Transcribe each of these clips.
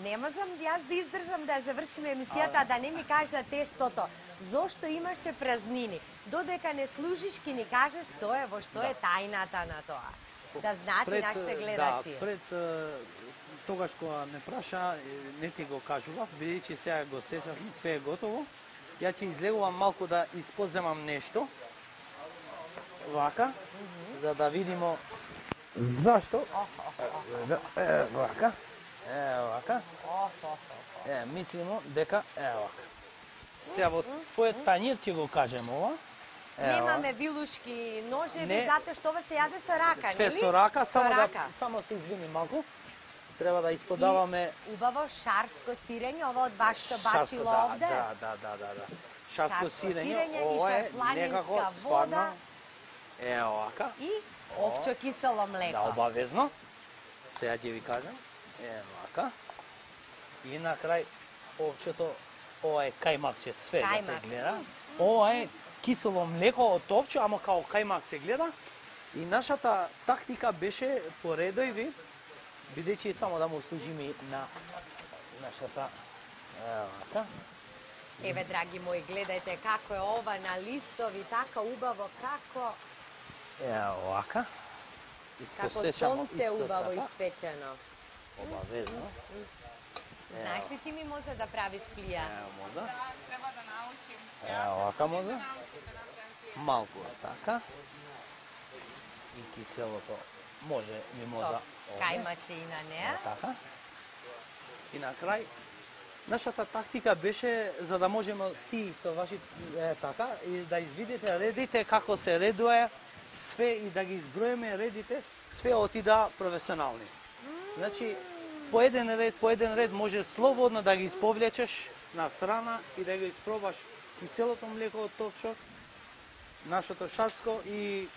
не можам јас да издржам да завршиме емисијата, а да не ми кажеш за тестото. Зошто имаше празнини? Додека не служиш, ки ни кажеш што е, во што е тајната на тоа. Да знаат и нашите гледачи. Да, пред тогаш кога ме праша, не ти го кажував, бидејќи сега го сечав, све е готово. Ја ќе излегувам малку да испоземам нешто. Вака, за да видимо зашто. Вака. Вака. Мислимо дека вака. Сега во твојот тањир ќе го кажем ова. Немаме вилушки ножеви, затоа што ова се јаде со рака, нели? Све со рака, само се извини малку. Треба да исподаваме убаво шарско сирење, ова од вашето бачило овде. Да. Шарско сирење, ова е некако стварно. Овака. И овчо кисело млеко. Да, обавезно. Сега ќе ви кажам. Овака. И на крај овчето, ова е кајмакче, све да се гледа. Ова е кисело млеко од овче, ама као кајмак се гледа. И нашата тактика беше по редови, бидејќи само да му служиме на нашата вака. Еве, драги мои, гледајте како е ова на листови, така убаво, како... Овака. Како сонце убаво испечено. Обавезно. Знаеш ли ти ми може да правиш флија? Може. Треба да научим. Овака може. Малку така. И киселото може мимоза. Кајмачина, не? Така. И на крај, нашата тактика беше за да можеме ти со ваши така и да извидите редите како се редуе све и да ги изброиме редите, све отида професионални. Значи, по еден ред може слободно да ги исповлечеш на страна и да ги испробаш киселото млеко од товчок, нашето шарско и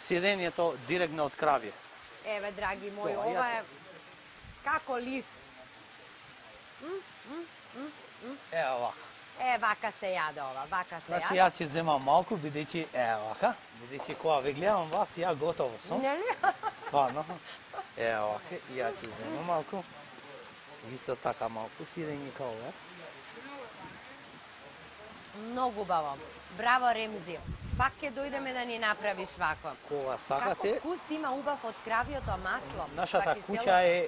сирењето директно од кравје. Еве, драги мои, ова е како лист. Вака. Вака се јаде ова, вака се јаде. Значи, ја ќе земам малку, бидејќи вака, бидејќи кога ве гледам вас, ја готово сум. Нели? Стварно. Вака, ја ќе земам малку. Исто така малку сирење као ова. Многу убаво. Браво, Ремзи. Пак ќе дојдеме да ни направиш вако. Кога сакате. Како вкус има убав од кравјото масло. Нашата куќа е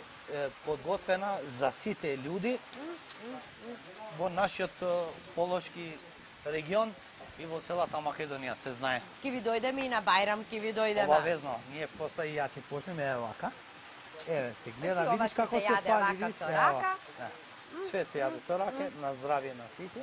подготвена за сите луѓе во нашиот полошки регион и во целата Македонија, се знае. Ки ви дојдеме и на Бајрам, ки ви дојдеме. Обавезно, ние после и ја ќе почнеме вака. Еве, се гледа, видиш како се пали, видиш. Со рака. Све се јаде со рака, на здравје на сите.